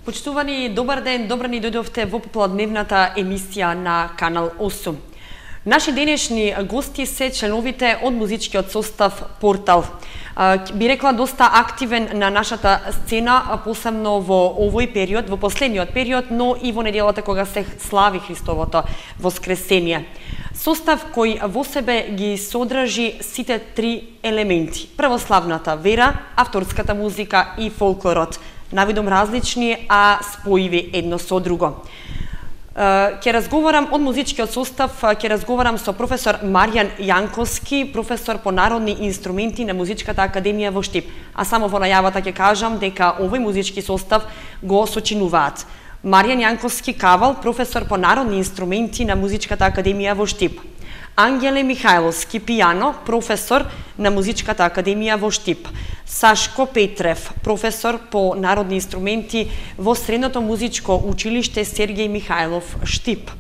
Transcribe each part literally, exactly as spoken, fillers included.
Почитувани, добар ден, добро ни дојдовте во попладневната емисија на Канал осум. Наши денешни гости се членовите од музичкиот состав Портал. Би рекла доста активен на нашата сцена, посебно во овој период, во последниот период, но и во неделата кога се слави Христовото воскресение. Состав кој во себе ги содржи сите три елементи: православната вера, авторската музика и фолклорот, навидом различни, а споиви едно со друго. Ќе разговарам од музичкиот состав, ќе разговарам со професор Маријан Јанковски, професор по народни инструменти на Музичката академија во Штип. А само во најавата ќе кажам дека овој музички состав го сочинуваат Маријан Јанковски Кавал, професор по народни инструменти на Музичката академија во Штип; Ангеле Михајловски пијано, професор на Музичката академија во Штип; Сашко Петрев, професор по народни инструменти во Средното музичко училиште Сергеј Михајлов Штип;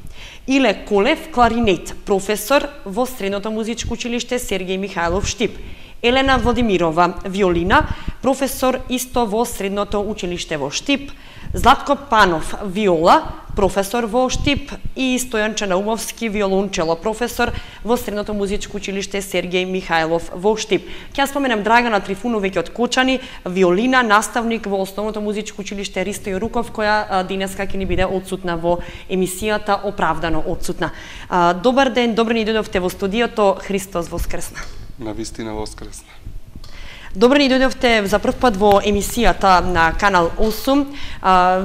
Иле Колев, кларинет, професор во Средното музичко училиште Сергеј Михајлов Штип; Елена Владимирова, виолина, професор исто во Средното училиште во Штип; Златко Панов, виола, професор во Штип; и Стојан Чанаумовски, виолончело, професор во Средното музичко училиште Сергеј Михајлов во Штип. Ќе споменам Драгана Трифуновеќе од Кочани, виолина, наставник во Основното музичко училиште Ристо Јоруков, која денеска ќе ни биде отсутна во емисијата, оправдано отсутна. Добар ден, добро ни дојдовте во студиото. Христос воскресна. Навистина воскресна. Добро ни дојдовте за прв пат во емисијата на Канал осум.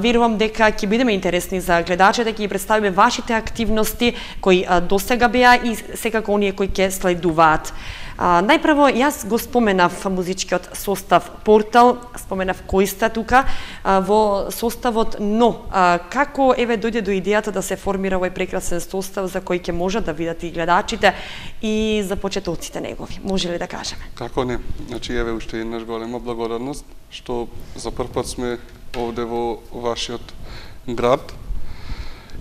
Верувам дека ќе бидеме интересни за гледачите, ќе ги представиме вашите активности кои досега беа и секако оние кои ќе следуваат. Најпрво, јас го споменав музичкиот состав Портал, споменав кои сте тука во составот, но како еве дојде до идејата да се формира овој прекрасен состав за кој ќе можат да видат и гледачите и за почетоците негови? Може ли да кажеме? Како не? Значи, еве уште еднаш голема благодарност што за прв пат сме овде во вашиот град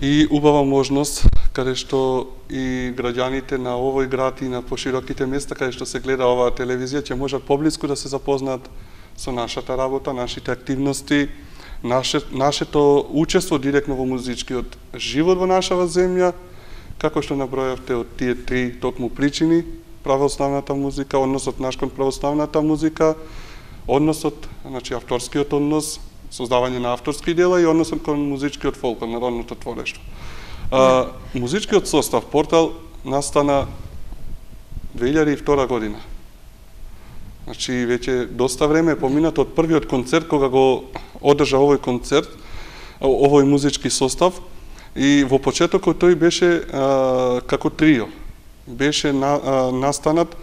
и убава можност каде што и граѓаните на овој град и на пошироките места каде што се гледа оваа телевизија ќе можат поблиску да се запознаат со нашата работа, нашите активности, наше, нашето учество директно во музичкиот живот во нашава земја, како што набројавте од тие три токму причини: православната музика, односот наш кон православната музика, односот, значи авторскиот однос, создавање на авторски дела и односот кон музичкиот фолклор, народното творештво. А, музичкиот состав Портал настана две илјади и втора година. Значи, веќе доста време е поминато од првиот концерт кога го одржа овој концерт, овој музички состав, и во почетокот тој беше а, како трио. Беше на, а, настанат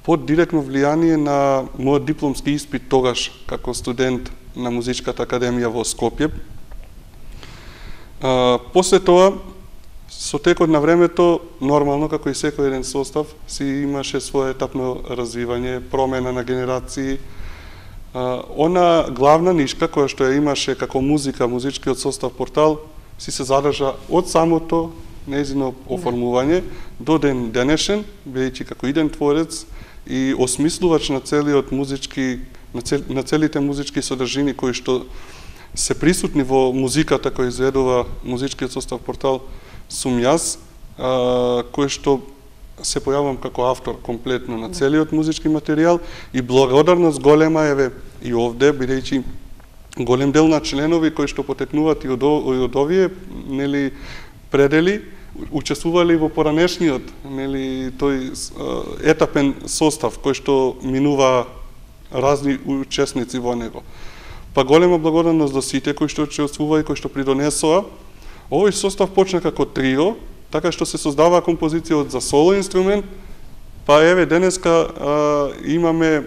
под директно влијание на мојот дипломски испит тогаш како студент на Музичката академија во Скопје. А, после тоа, со текот на времето, нормално, како и секој еден состав, си имаше свое етапно развивање, промена на генерации. А, она главна нишка која што ја имаше како музика, музичкиот состав Портал, си се задржа од самото нејзино оформување до ден денешен, бидејќи како иден творец и осмислувач на целиот музички, на, цел, на целите музички содржини кои што се присутни во музиката која изведува музичкиот состав Портал, сум јас, а, кој што се појавам како автор комплетно на целиот музички материјал и благодарност голема еве и овде, бидејќи голем дел на членови кои што потекнуваат и од, и од овие, нели, предели, учествували во поранешниот, нели, тој етапен состав кој што минува разни учесници во него. Па голема благодарност до сите кои што учествува и кои што придонесоа. Овој состав почна како трио, така што се создава композиција од за соло инструмент, па еве денеска а, имаме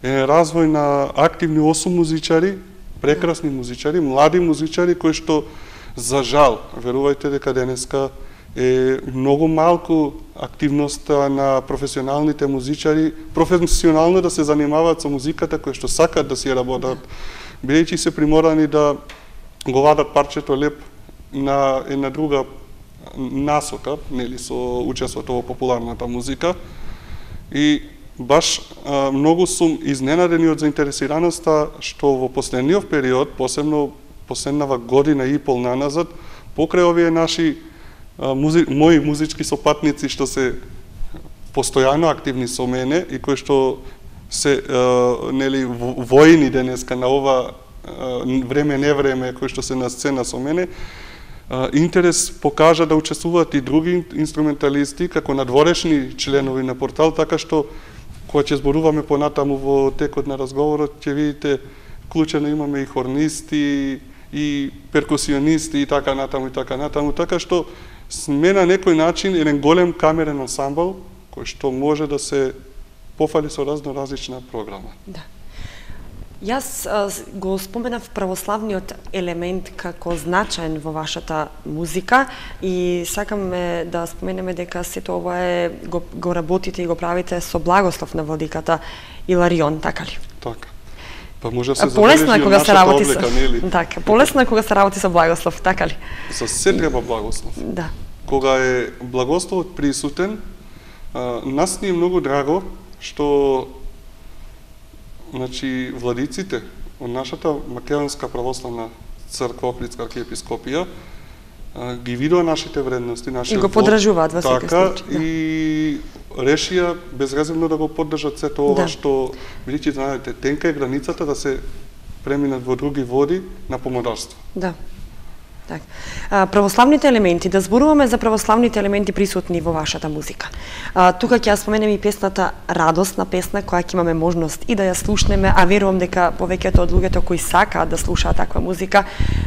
е, развој на активни осум музичари, прекрасни музичари, млади музичари кои што за жал, верувајте дека денеска е многу малку активноста на професионалните музичари, професионално да се занимаваат со музиката кои што сакат да си работат, бидејќи се приморани да го вадат парчето леп на една друга насока, нели, со учеството во популарната музика. И баш а, многу сум изненадени од заинтересираноста што во последниот период, посебно последнава година и пол наназад, покрај овие наши а, музи, мои музички сопатници што се постојано активни со мене и кои што се а, нели воини денеска на ова а, време не време кои што се на сцена со мене, а, интерес покажа да учествуваат и други инструменталисти како надворешни членови на портал, така што кога ќе зборуваме понатаму во текот на разговорот ќе видите вклучено имаме и хорнисти и перкусионисти и така натаму и така натаму, така што сме на некој начин еден голем камерен ансамбл кој што може да се пофали со разно различна програма. Да. Јас а, го споменав православниот елемент како значаен во вашата музика и сакаме да споменеме дека сето ова е го, го работите и го правите со благослов на владиката Иларион, така ли? Така. Па може да се полесно е кога се работи облека, со нели? Така, полесно е кога се работи со благослов, така ли? За се треба благослов. Да. Кога е благословот присутен, а, нас ни е многу драго што значи владиците од нашата Македонска православна црква Охридска архиепископија ги видува нашите вредности, нашиот и го поддржуваат во секој така, случај. Да. И решија безрезервно да го поддржат сето ова, да. Што бидејќи знаете, тенка е границата да се преминат во други води на помодарство. Да. Так. А, православните елементи, да зборуваме за православните елементи присутни во вашата музика. А, тука ќе ја споменем и песната Радосна песна, која ќе имаме можност и да ја слушнеме, а верувам дека повеќето од луѓето кои сакаат да слушаат таква музика,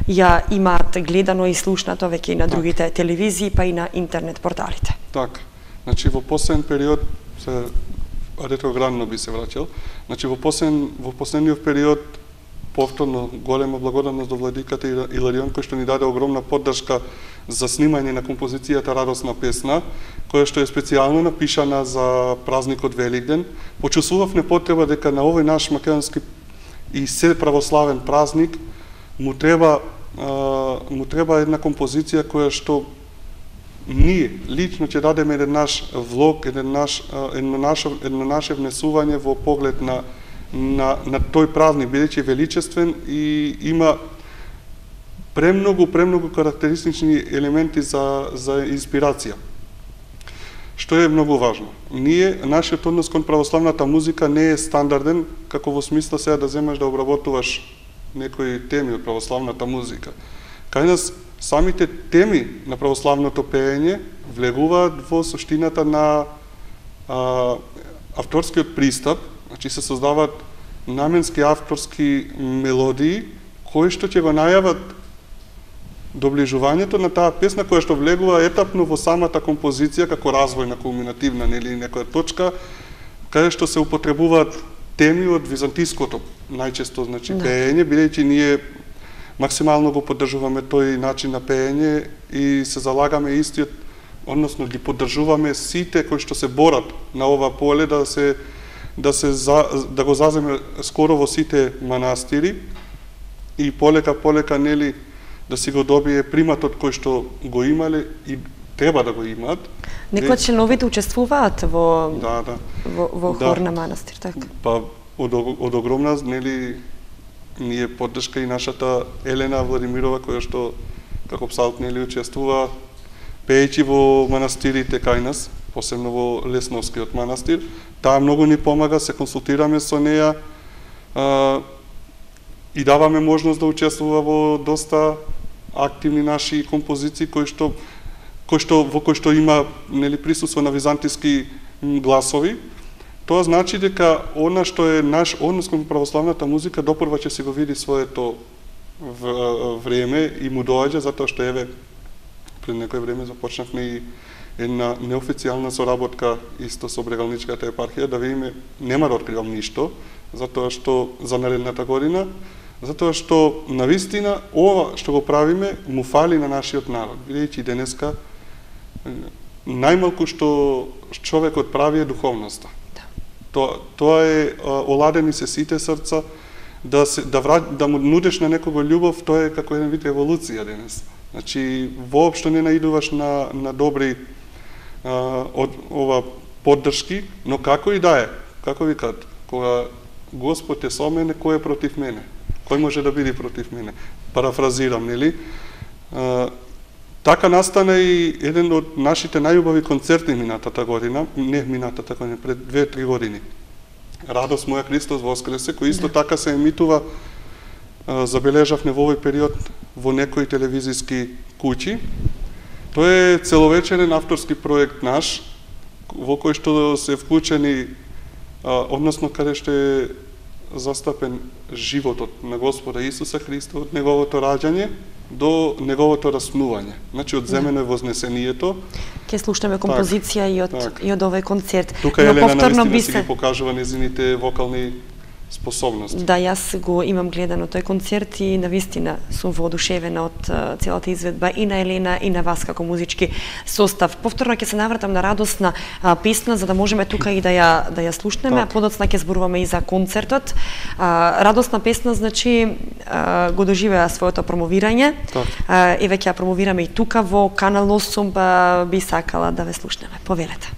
ја имаат гледано и слушнато веќе и на другите так. телевизии, па и на интернет порталите. Така. Значи во последен период, се ретроградно би се враќал, значи во последен во последниот период повторно голема благодарност до владиката Иларион кој што ни даде огромна поддршка за снимање на композицијата Радосна песна, која што е специјално напишана за празникот Великден. Почувствував непотреба дека на овој наш македонски и се православен празник му треба а, му треба една композиција која што ние лично ќе дадеме еден наш влог, еден наш едно наше едно наше внесување во поглед на на на тој празник, бидејќи е величествен и има премногу премногу карактеристични елементи за за инспирација. Што е многу важно. Ние нашиот однос кон православната музика не е стандарден, како во смисла сега да земеш да обработуваш некои теми од православната музика. Кај нас самите теми на православното пеење влегуваат во суштината на а, авторскиот пристап. Значи се создаваат наменски авторски мелодии кои што ќе го најават доближувањето на таа песна која што влегува етапно во самата композиција како развојна кулминативна нели некоја точка каде што се употребуваат теми од византиското најчесто значи да. Пеење, бидејќи ние максимално го поддржуваме тој начин на пеење и се залагаме истиот, односно ги поддржуваме сите кои што се борат на ова поле да се да се за, да го заземе скоро во сите манастири и полека полека нели да си го добие приматот кој што го имале и треба да го имаат. Некои од членовите учествуваат во да, да. во, во да. хор на манастир, така. Па од, од огромна нели ние поддршка и нашата Елена Владимирова која што како псалт нели учествува пеејќи во манастирите кај нас, посебно во Лесновскиот манастир. Таа многу ни помага, се консултираме со неа а, и даваме можност да учествува во доста активни наши композиции кои што кои што во кои што има нели присуство на византиски гласови. Тоа значи дека она што е наш однос кон православната музика допрва ќе се го види своето време и му доаѓа затоа што еве пред некој време започнавме и една неофицијална соработка исто со Брегалничката епархија, да видиме, нема да откривам ништо, затоа што за наредната година, затоа што навистина ова што го правиме му фали на нашиот народ, бидејќи денеска најмалку што човекот прави е духовноста. Да. Тоа, тоа е оладени се сите срца, да се да врат, да му нудеш на некого љубов, тоа е како еден вид еволуција денес. Значи воопшто не наидуваш на на добри а, од ова поддршки, но како и да е, како викаат, кога Господ е со мене, кој е против мене? Кој може да биде против мене? Парафразирам, нели? А, така настана и еден од нашите најубави концерти минатата година, не минатата година, пред две-три години. Радост моја Христос воскресе, кој исто да. така се емитува, а, забележавме во овој период во некои телевизиски куќи. Тоа е целовечерен авторски проект наш, во кој што се вклучени, а, односно каде што е застапен животот на Господа Исуса Христа од неговото раѓање до неговото раснување. Значи од земено е вознесението. Ке слушнеме композиција так, и од так. и од овој концерт. Тука Елена навистина би се... си ги покажува незините вокални способности. Да, јас го имам гледано тој концерт и навистина сум воодушевена од uh, целата изведба и на Елена и на вас како музички состав. Повторно ќе се навратам на радосна uh, песна за да можеме тука и да ја да ја слушнеме, а подоцна ќе зборуваме и за концертот. Uh, радосна песна значи uh, го доживеа своето промовирање. Uh, еве ќе ја промовираме и тука во Канал осум, uh, би сакала да ве слушнеме. Повелете.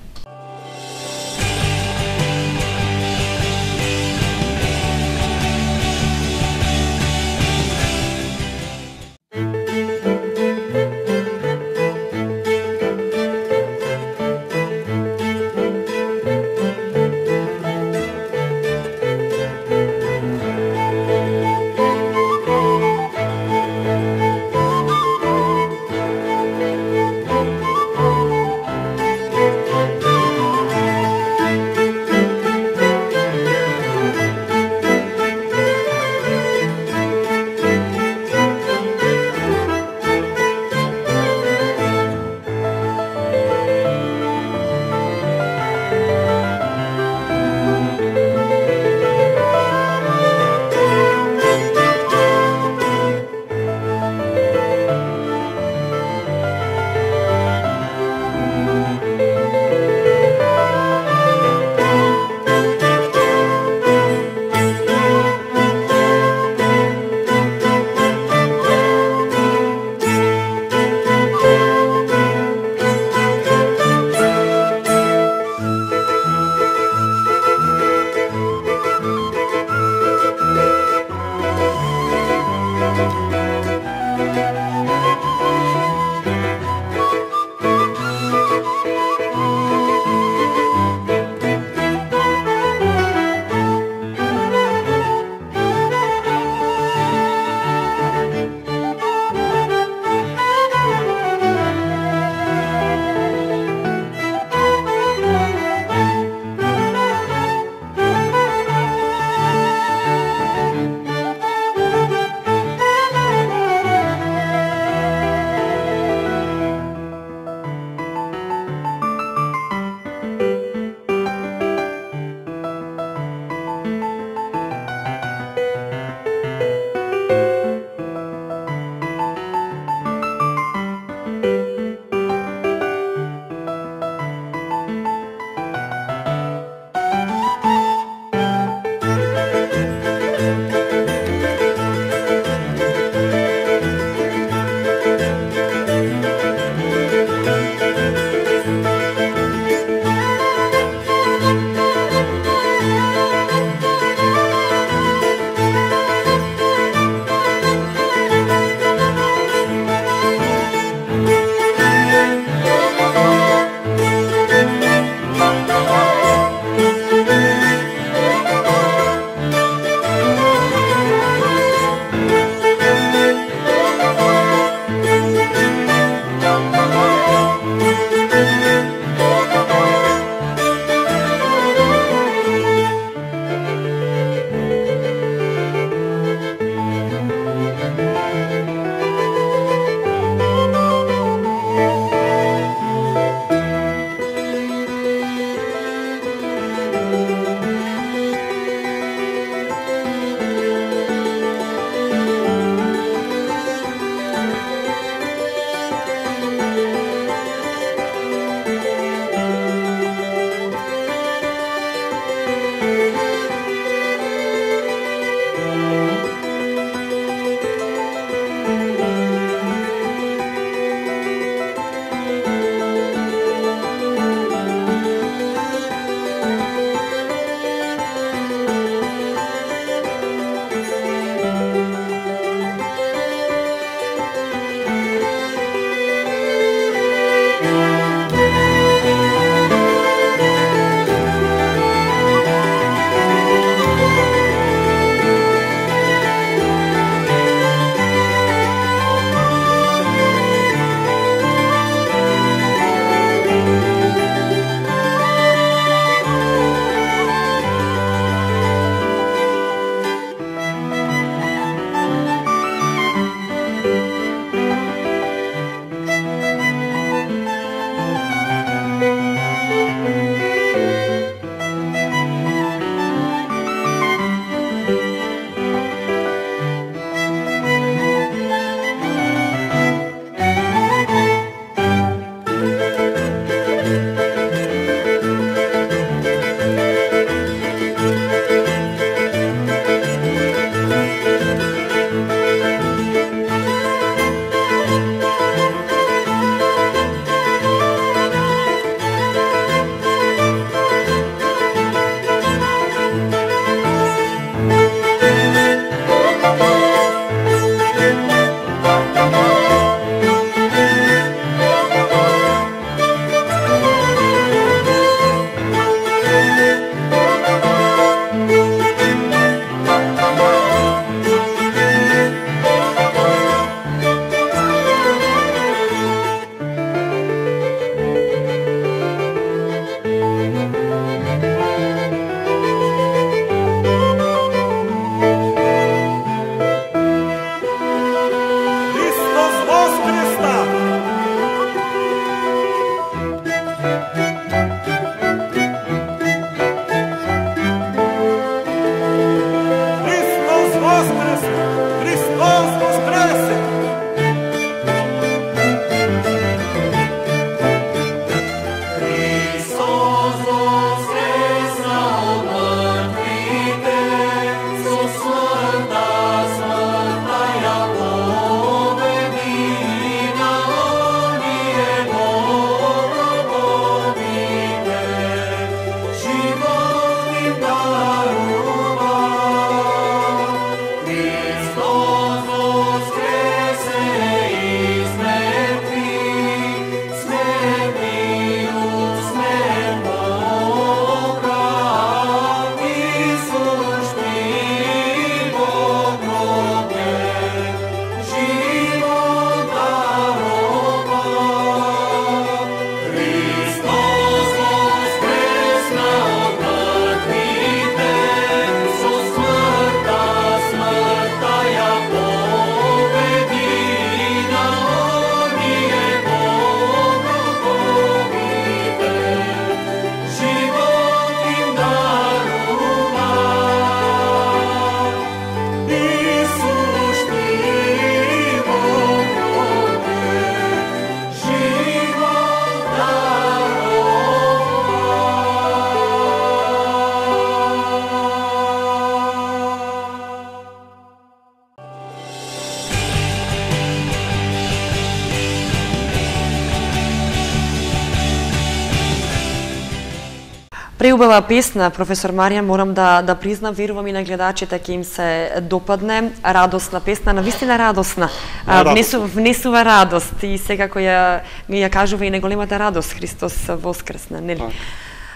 преубава песна, професор Маријан, морам да да признам, верувам и на гледачите ќе им се допадне. Радосна песна, навистина радосна. А, внесу, внесува радост и секако ја ја кажува и неголемата радост Христос воскресна, нели?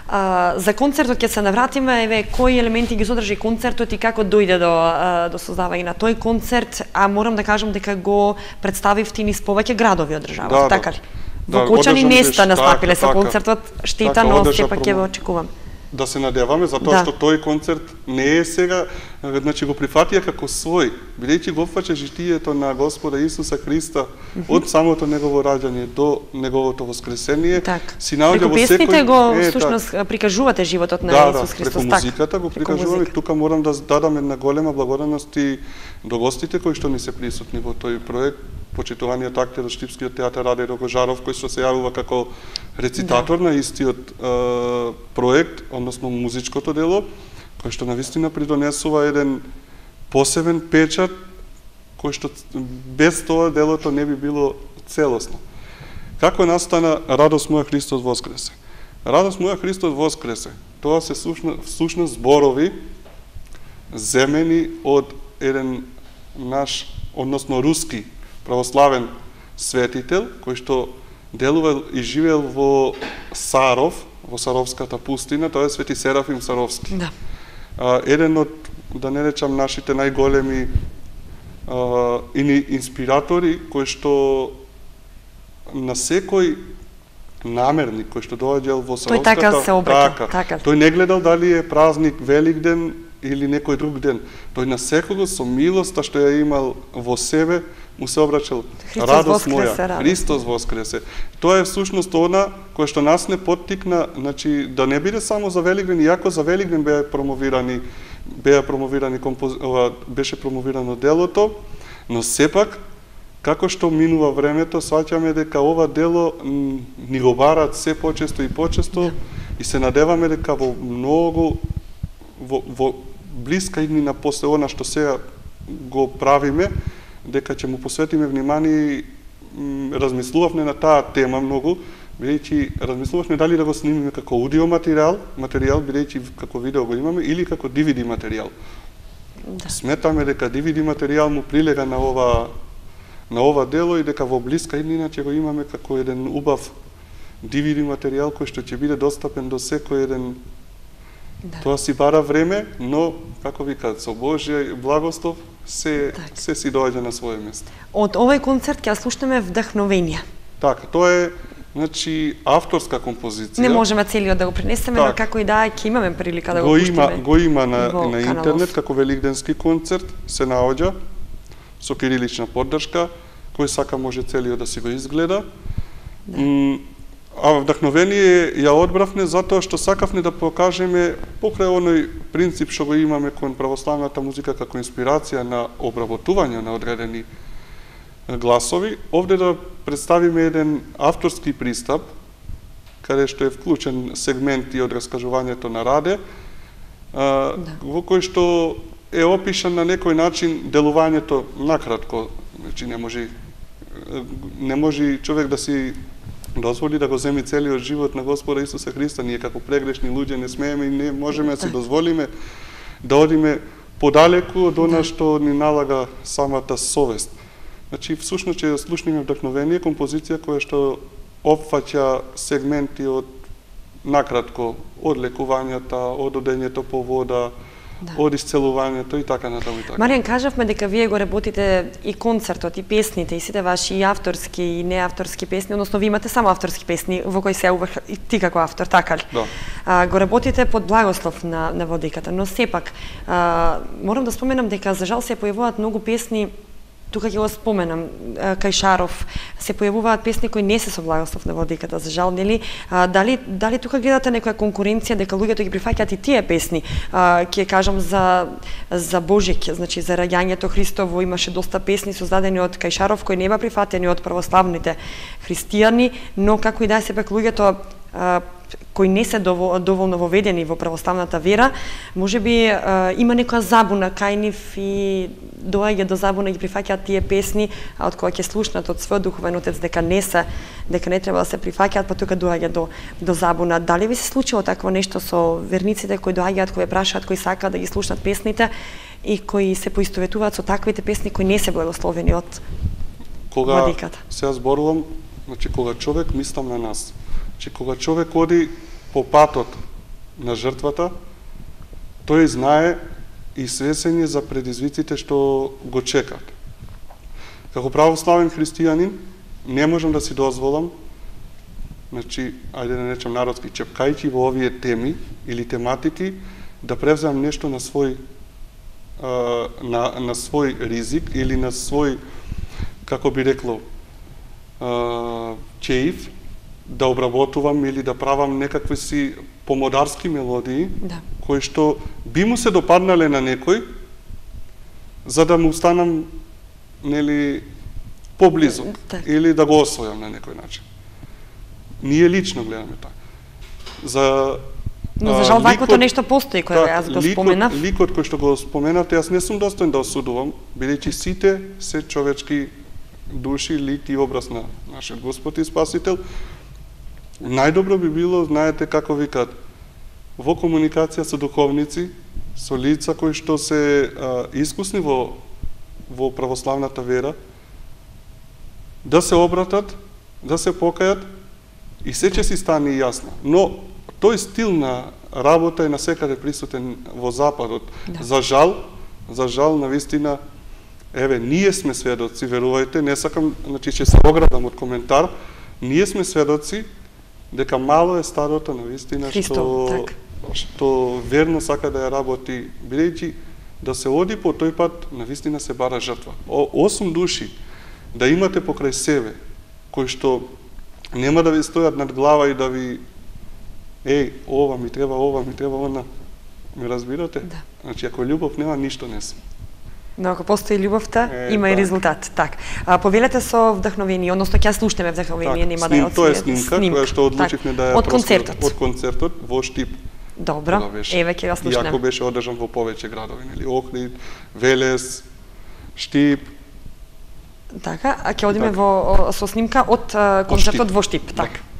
А, за концертот ќе се навратиме, еве кои елементи ги содржи концертот и како дојде до до создавање на тој концерт, а морам да кажам дека го представивте низ повеќе градови од државата, да, така ли? Да, Во Кочани не сте настапиле со така, концертот, штета, така, но одеша сепак ќе го очекувам. Да се надеваме, затоа Да. што тој концерт не е сега, значи го прифатија како свој, бидејќи го опфаќа житието на Господа Исуса Христа од самото негово раѓање до неговото воскресение. Так. Си наоѓа во песните секој го е, всушност так. прикажувате животот на Да, Исус да, Христос, преку така. музиката го прикажуваме. Тука морам да дадам една голема благодарност и до гостите кои што ни се присутни во тој проект. Почитуваниот актер од Штипскиот театар Раде Рогожаров, кој што се јавува како рецитатор да. на истиот е, проект, односно музичкото дело, кој што навистина придонесува еден посебен печат, кој што без тоа делото не би било целосно. Како настана Радост моја Христос воскресе? Радост моја Христос воскресе. Тоа се всушност зборови земени од еден наш, односно руски православен светител, кој што делувал и живеел во Саров, во Саровската пустина, тоа е Свети Серафим Саровски. Да. А, еден од, да не речам, нашите најголеми а, инспиратори, кој што на секој намерник, кој што доаѓал во Саровската... Тој така се обраќа, така. така. Тој не гледал дали е празник Великден или некој друг ден. Тој на секого со милоста што ја имал во себе, му се обраќал радост моја, радост. Христос воскресе. Тоа е всушност она кој што нас не поттикна, значи да не биде само за Великден, иако за Великден беа промовирани, беа промовирани композ... ова, беше промовирано делото, но сепак како што минува времето, сваќаме дека ова дело ни го бараат се почесто и почесто и се надеваме дека во многу во, во блиска иднина после она што сега го правиме, дека ќе му посветиме внимание и размислувавме на таа тема многу, бидејќи размислувавме дали да го снимиме како аудио материјал, материјал бидејќи како видео го имаме, или како ди ви ди материјал. Да. Сметаме дека ди ви ди материјал му прилега на ова на ова дело и дека во блиска иднина ќе го имаме како еден убав ди ви ди материјал кој што ќе биде достапен до секој еден. Да. Тоа си бара време, но како викаат, со Божја благослов се так. се си доаѓа на свое место. Од овој концерт ќе слушнеме Вдахновение. Така, тоа е значи авторска композиција. Не можеме целиот да го пренесеме, так. но како и да ќе имаме прилика да го, го пуштиме. Има, го има на, на интернет каналов. како великденски концерт, се наоѓа со кирилична поддршка, кој сака може целиот да си го изгледа. Да. М, а Вдахновение ја одбравме затоа што сакавме да покажеме покрај оној принцип што го имаме кон православната музика како инспирација на обработување на одредени гласови, овде да представиме еден авторски пристап, каде што е вклучен сегменти од раскажувањето на Раде, а, да. во кој што е опишан на некој начин делувањето накратко, значи не може не може човек да си дозволи да го земи целиот живот на Господа Исуса Христа. Ние како прегрешни луѓе не смееме и не можеме да си дозволиме да одиме подалеку од она што ни налага самата совест. Значи, всушност ќе слушнеме Вдахновение, композиција која што опфаќа сегменти од накратко од лекувањата, од одењето по вода, да. од исцелувањето и така натаму и така. Маријан, кажавме дека вие го работите и концертот, и песните, и сите ваши и авторски и неавторски песни, односно ви имате само авторски песни во кои се уврх и ти како автор, така ли? Да. А, го работите под благослов на, на владиката, но сепак, а, морам да споменам дека за жал се појавуваат многу песни. Тука ќе го споменам, кај Шаров се појавуваат песни кои не се со благослов на владиката, за жал, нели? А, дали, дали тука гледате некоја конкуренција дека луѓето ги прифаќаат и тие песни? А, ќе кажам за, за Божик, значи за раѓањето Христово имаше доста песни создадени од кај Шаров кои не беа прифатени од православните христијани, но како и да е сепак луѓето кои не се доволно воведени во православната вера, можеби има некоја забуна кај нив и доаѓа до забуна, ги прифаќаат тие песни, а од кога ќе слушнат од својот духовен отец дека не се, дека не треба да се прифаќаат, па тука доаѓа до до забуна. Дали ви се случило такво нешто со верниците кои доаѓаат, кои прашаат, кои сакаат да ги слушнат песните и кои се поистоветуваат со таквите песни кои не се благословени од кога владиката? Сега зборувам, значи кога човек, мислам на нас, че кога човек оди по патот на жртвата, тој знае и свесен е за предизвиците што го чекат. Како православен христијанин, не можам да си дозволам, значи, ајде да речем народски, чепкајќи во овие теми или тематики, да превземам нешто на свој на, на свој ризик или на свој, како би рекло, чеив, да обработувам или да правам некакви си помодарски мелодии, да, кои што би му се допаднале на некој, за да му станам, нели, поблизу, так, или да го освојам на некој начин. Ние лично гледаме така. За но за жал ваквото нешто постои кој јас го споменав. Ликот кој што го споменавте, јас не сум достоен да осудувам, бидејќи сите се човечки души, лик и образ на нашиот Господ и Спасител. Најдобро би било, знаете како викат, во комуникација со духовници, со лица кои што се а, искусни во во православната вера, да се обратат, да се покајат и се ќе си стане јасно. Но тој стил на работа е насекаде присутен во Западот. Да. За жал, за жал, навистина, еве, ние сме сведоци, верувајте, не сакам, значи ќе се оградам од коментар, ние сме сведоци дека мало е стадото навистина што так, што верно сака да ја работи, бидејќи да се оди по тој пат, навистина се бара жртва. О, осум души да имате покрај себе, кои што нема да ви стојат над глава и да ви еј, ова ми треба, ова ми треба, она. Ми разбирате? Да. Значи, ако љубов нема, ништо не сме. Но ако постои љубовта, е, има так. и резултат. Так. А, повелете со вдахновение, односно ќе слушнеме вдахновение, нема да сним, ја тоа е снимка, снимка, која што одлучивме да ја од концертот. Од концертот во Штип. Добро, еве ќе ја слушнеме. Иако беше одржан во повеќе градови, нели, Охрид, Велес, Штип. Така, а ќе одиме так. во со снимка од а, концертот во Штип, Штип. така.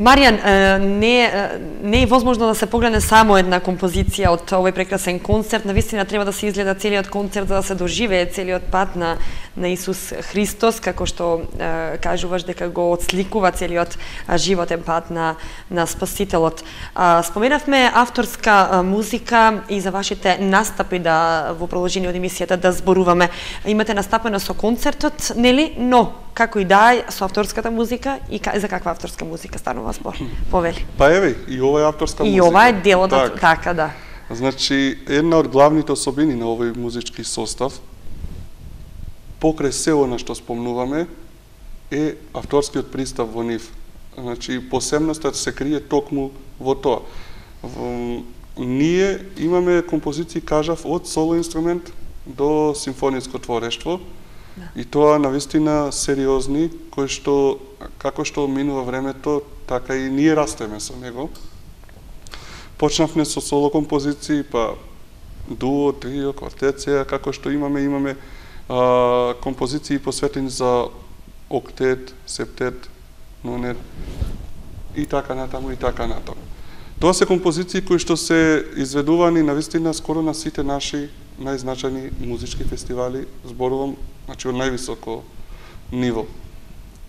Маријан, не, не е возможно да се погледне само една композиција од овој прекрасен концерт. Навистина треба да се изгледа целиот концерт за да се доживее целиот пат на, на Исус Христос, како што е, кажуваш дека го отсликува целиот животен пат на, на Спасителот. А, споменавме авторска а, музика и за вашите настапи да во продолжение од емисијата да зборуваме. Имате настапено со концертот, нели? Но како и да е со авторската музика и за каква авторска музика станува збор? Повели. Па еве, и ова е авторска и музика. И ова е дел од така. така, да. Значи, една од главните особини на овој музички состав, покрај се она што спомнуваме, е авторскиот пристап во нив. Значи, посебноста се крие токму во тоа. Во, ние имаме композиции, кажав, од соло инструмент до симфониско творештво, да. И тоа навистина сериозни, кои што, како што минува времето, така и ние растеме со него. Почнавме со соло композиции, па дуо, трио, квартет, како што имаме, имаме а, композиции посветени за октет, септет, нонет, и така натаму, и така натаму. Тоа се композиции кои што се изведувани навистина скоро на сите наши најзначајни музички фестивали, зборувам, значи од највисоко ниво,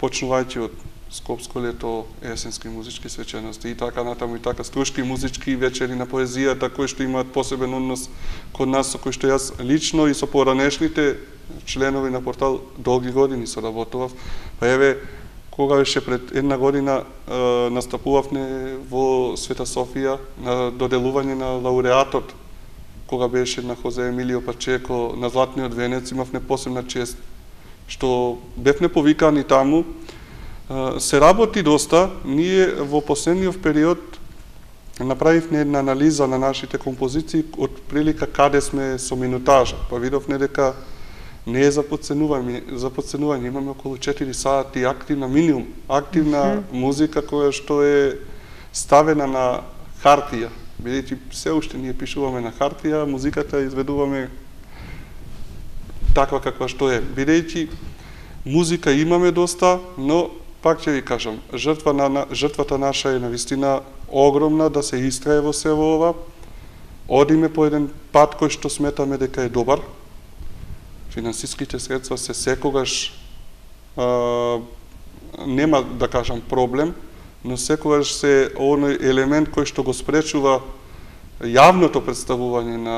почнувајќи од Скопско лето, есенски музички свечености и така натаму и така струшки музички вечери на поезијата кои што имаат посебен однос код нас, со кои што јас лично и со поранешните членови на портал долги години соработував. Па еве, кога беше пред една година е, настапувавме во Света Софија на доделување на лауреатот, кога беше на Хозе Емилио Пачеко на Златниот венец, имавме посебна чест што бевме повикани таму. Се работи доста. Ние во последниот период направивме една анализа на нашите композиции од прилика каде сме со минутажа. Па видовме дека не е за подценување, за подценување. Имаме околу четири сати активна, минимум, активна mm -hmm. музика која што е ставена на хартија. Бидејќи се уште ние пишуваме на хартија, музиката изведуваме таква каква што е. Бидејќи музика имаме доста, но пак ќе ви кажам, жртва на, жртвата наша е навистина огромна да се истрае во се во ова. Одиме по еден пат кој што сметаме дека е добар. Финансиските средства се секогаш а, нема да кажам проблем, но секогаш се оној елемент кој што го спречува јавното представување на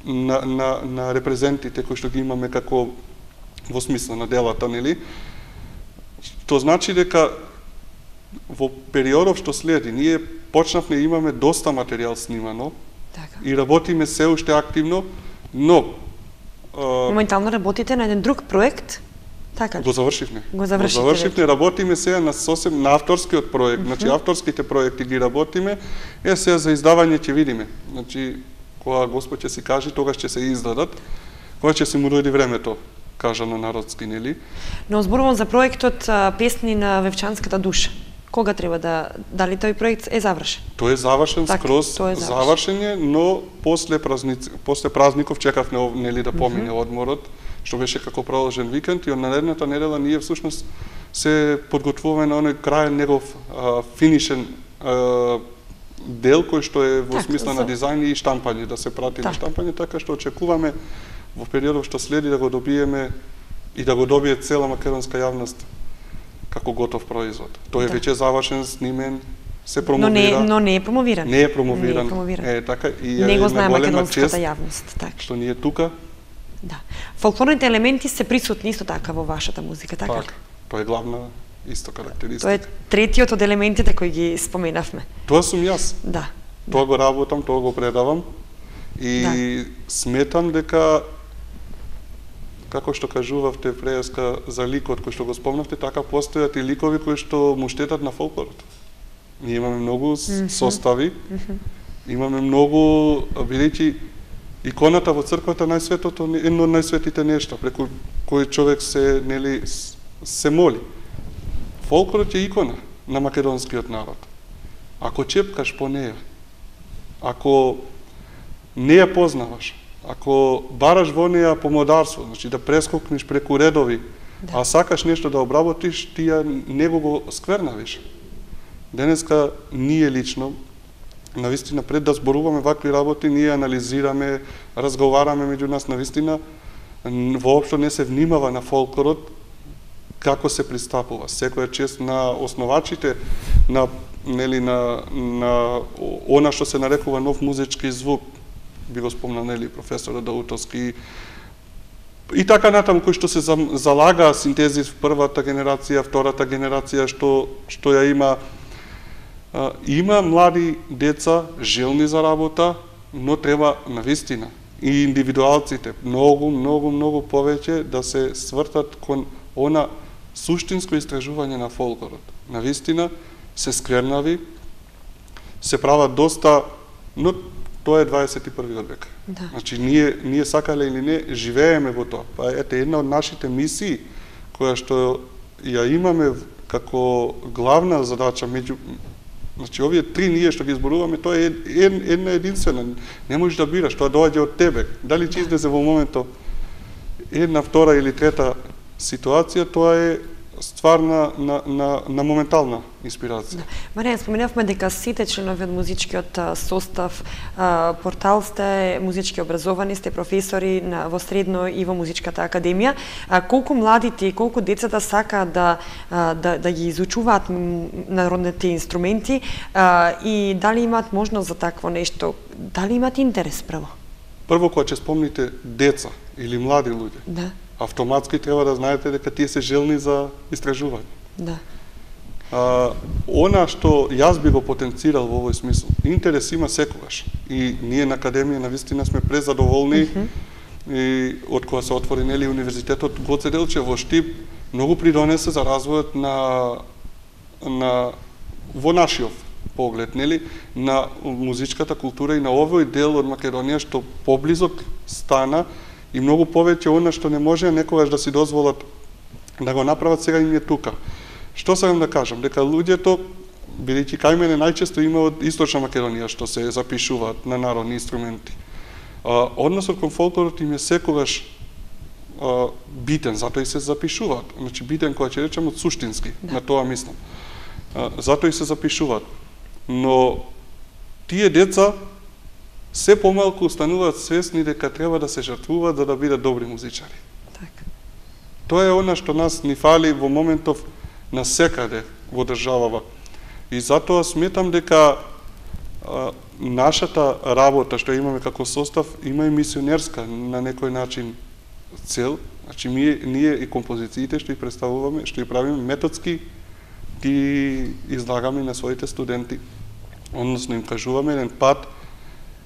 на, на, на репрезентите кои што ги имаме како во смисла на делата, нели? Тоа значи дека во периодов што следи, ние почнавме, имаме доста материјал снимано, така. И работиме се уште активно, но... Моментално работите на еден друг проект, така ли? Го завршивме. Го завршите. Го завршивме, работиме сега на сосем на авторскиот проект, mm -hmm. значи авторските проекти ги работиме, е сега за издавање ќе видиме. Значи, кога Господ ќе си каже, тогаш ќе се издадат, кога ќе се му дојде времето, кажано народски, нели? Но зборувам за проектот Песни на вевчанската душа. Кога треба да, дали тој проект е завршен? Тој е завршен так, скроз, тој е завршен. завршен е, но после празници, после празников чекавме нели да помине mm -hmm. одморот, што беше како продолжен викенд, и од наредната недела ние всушност се подготвуваме на оној крајен негов а, финишен а, дел кој што е во так, смисла за... на дизајн и штампање, да се прати так. на штампање, така што очекуваме во периодот што следи да го добиеме и да го добие цела македонска јавност како готов производ. Тој е да. веќе завршен, снимен, се промовира. Но не, но не е промовиран. Не е промовиран. Не е промовиран. Е, така, и не го знае македонската јавност. Так. Што ние тука. Да. Фолклорните елементи се присутни исто така во вашата музика, така ли? Так, тоа е главна исто карактеристика. Тоа е третиот од елементите кои ги споменавме. Тоа сум јас. Да. Тоа да. го работам, тоа го предавам и да. сметам дека како што кажувавте преска за ликот кој што го спомнавте, така постојат и ликови кои што му штетат на фолклорот. Ние имаме многу mm -hmm. состави, mm -hmm. имаме многу, бидејќи иконата во црквата најсветото е едно од најсветите нешта преку кој човек се нели се моли. Фолклорот е икона на македонскиот народ. Ако чепкаш по неја, ако не ја познаваш, ако бараш во неја помодарство, значи да прескокнеш преку редови, да. а сакаш нешто да обработиш, ти ја него го сквернавиш. денеска ние лично, навистина пред да зборуваме вакви работи, ние анализираме, разговараме меѓу нас, навистина воопшто не се внимава на фолклорот како се пристапува. Секоја чест на основачите на нели на на она што се нарекува нов музички звук, би го спомнал нели професорот Даутовски и така натаму, кои што се залага синтезис првата генерација, втората генерација што што ја има. Има млади деца желни за работа, но треба навистина и индивидуалците многу, многу, многу повеќе да се свртат кон она суштинско истражување на фолклорот. Навистина се сквернави, се прават доста, но тоа е дваесет и први век. Да. Значи, ние, ние сакале или не, живееме во тоа. Па ете, една од нашите мисии, која што ја имаме како главна задача меѓу Значи, овие три ние што ги изборуваме, тоа е една единствена. Не можеш да бираш, тоа доаѓа од тебе. Дали ќе излезе во моментот една, втора или трета ситуација, тоа е ствар на, на, на, на моментална инспирација. Да. Маријан, споменавме дека сите членови од музичкиот состав портал сте музички образовани, сте професори на, во средно и во музичката академија. А, колку младите и колку децата сакаат да, да, да ги изучуваат народните инструменти а, и дали имаат можност за такво нешто? Дали имаат интерес прво? Прво, кога ќе спомните деца или млади луѓе, да. автоматски треба да знаете дека тие се желни за истражување. Да. А, она што јас би го потенцирал во овој смисол, интерес има секогаш. И ние на Академија навистина сме презадоволни, mm -hmm. и од кога се отвори нели универзитетот Гоце Делчев во Штип, многу придонесе за развојот на на во нашиот поглед, нели, на музичката култура и на овој дел од Македонија што поблизок стана и многу повеќе она што не може некогаш да си дозволат да го направат, сега им е тука. Што сакам да кажам? Дека луѓето, бидејќи кај мене најчесто има од Источна Македонија што се запишуваат на народни инструменти. А, односот кон фолклорот им е секогаш а, битен, затоа и се запишуваат. Значи битен, кога ќе речем од суштински, да. На тоа мислам. А, затоа и се запишуваат. Но тие деца се помалку остануваат свесни дека треба да се жртвуваат за да бидат добри музичари. Така. Тоа е она што нас ни фали во моментов на секаде во државава. И затоа сметам дека а, нашата работа што имаме како состав има и мисионерска на некој начин цел. Значи ние, ние и композициите што ги представуваме, што ги правиме методски, ги излагаме на своите студенти. Односно им кажуваме еден пат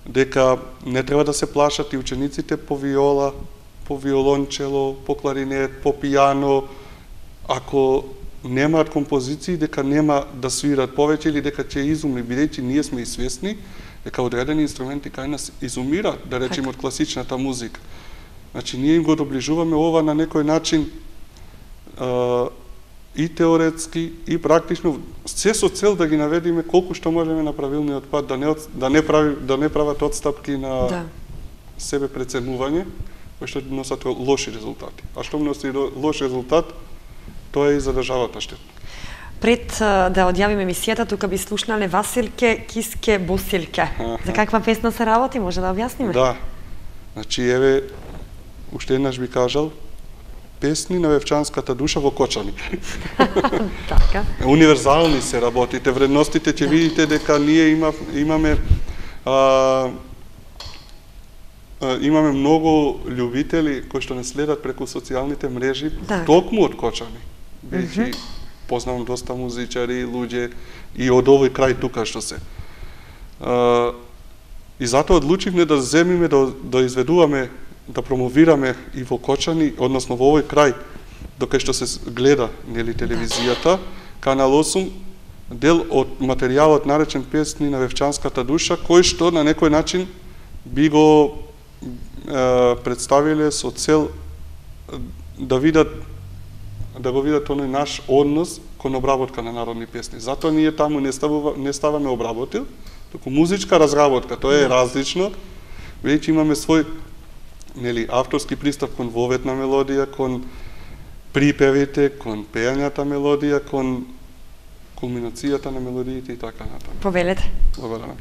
дека не треба да се плашат и учениците по виола, по виолончело, по кларинет, по пијано, ако немаат композиции, дека нема да свират повеќе или дека ќе изумри, бидејќи ние сме и свесни дека одредени инструменти кај нас изумираат, да речеме од класичната музика. Значи ние им го доближуваме ова на некој начин а, и теоретски и практично, се со цел да ги наведиме колку што можеме на правилниот пат, да не да не прави да не прават отстапки на да. себе преценување, кои што носат лоши резултати. А што носи лош резултат, тоа е и за државата штетно. Пред да одјавиме емисијата, тука би слушнале Василке, Киске, Босилке. За каква песна се работи, може да објасниме? Да. Значи еве уште еднаш би кажал песни на вевчанската душа во Кочани. Така. Универзални се работите, вредностите ќе видите дека ние има, имаме а, а, имаме многу љубители кои што не следат преку социјалните мрежи, да. Токму од Кочани. Бидејќи познавам доста музичари, луѓе и од овој крај тука што се. А, и затоа одлучивме да земиме да, да изведуваме, да промовираме и во Кочани, односно во овој крај, докај што се гледа нели телевизијата, Канал осум, дел од материјалот наречен песни на вевчанската душа, кој што на некој начин би го е, представиле со цел да видат да го видат оној наш однос кон обработка на народни песни. Затоа ние таму не ставува, не ставаме обработил, туку музичка разработка, тоа е различно, бидејќи имаме свој нели авторски пристап кон воветна мелодија, кон припевите, кон пејањата мелодија, кон кулминацијата на мелодиите и така натаму. Повелете. Благодарам.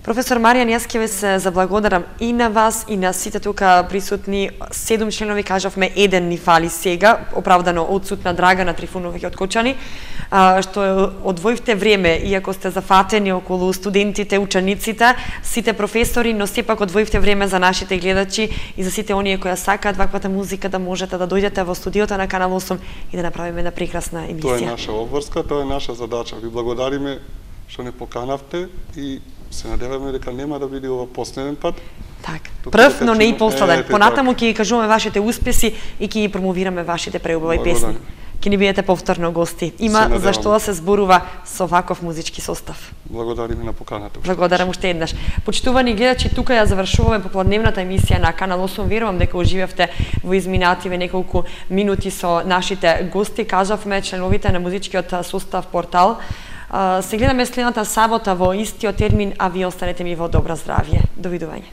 Професор Маријан, јас ќе ве се заблагодарам и на вас и на сите тука присутни. Седум членови, кажавме, еден ни фали сега, оправдано одсутна Драгана Трифунова од Кочани, што одвоивте време, иако сте зафатени околу студентите, учениците, сите професори, но сепак одвоивте време за нашите гледачи и за сите оние кои сакаат ваквата музика да можете да дојдете во студиото на Канал осум и да направиме една прекрасна емисија. Тоа е наша обврска, тоа е наша задача. Ви благодариме што не поканавте и се надеваме дека нема да биде ова последен пат. Така. Прв, но не и последен. Понатаму ќе ги кажуваме вашите успеси и ќе ги промовираме вашите преубави песни. Ќе ни бидете повторно гости. Има за што да се зборува со ваков музички состав. Благодариме на поканата. Благодарам уште еднаш. Почитувани гледачи, тука ја завршуваме попладневната емисија на Канал осум. Верувам дека уживавте во изминативе неколку минути со нашите гости. Кажавме членовите на музичкиот состав Портал. Се гледаме следната сабота во истиот термин, а вие останете ми во добро здравје. Довидување.